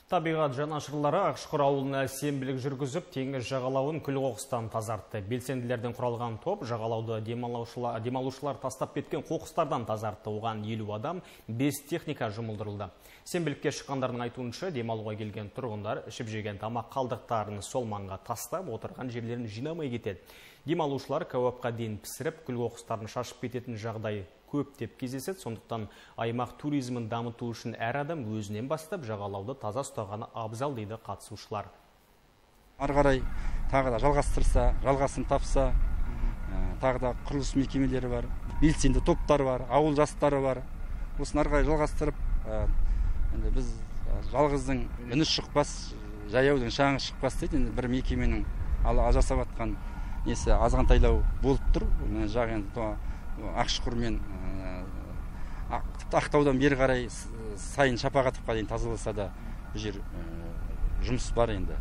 Табиғат жанашырлары Ақшұқыр ауылына сенбілік жүргізіп, теңіз жағалауын күл-қоқыстан тазартты. Белсенділерден құралған топ жағалауды демалушылар тастап кеткен қоқыстардан тазартты. Оған 50 адам, 5 техника жұмылдырылды. Сенбілікке шыққандардың айтуынша, демалуға келген тұрғындар ішіп жеген тамақ қалдықтарын сол маңға тастап, отырған жерлерін жинамай кетеді. Демалушылар кәуапқа дейін пісіріп, күл-қоқыстарын шашып кететін жағдай көп деп кездеседі. Сондықтан аймақ туризмін дамыту үшін әр адам өзінен бастап жағалауды таза ұстағаны абзал дейді қатысушылар. Ары қарай тағы да жалғастырса, жалғасын тапса, тағы да құрылыс мекемелері бар, белсенді топтар бар, ауыл жастары бар. Осыны ары қарай жалғастырып, біз жалғыздың үні шықпас, жаяудың шаңы шықпас дейді. Бір мекеменің жасап жатқан несі азғантайлау болып тұр. Ақшұқыр мен Ақтаудан бері қарай сайын Шапағатовқа дейін тазаласа да бұл жер жұмыс бар енді.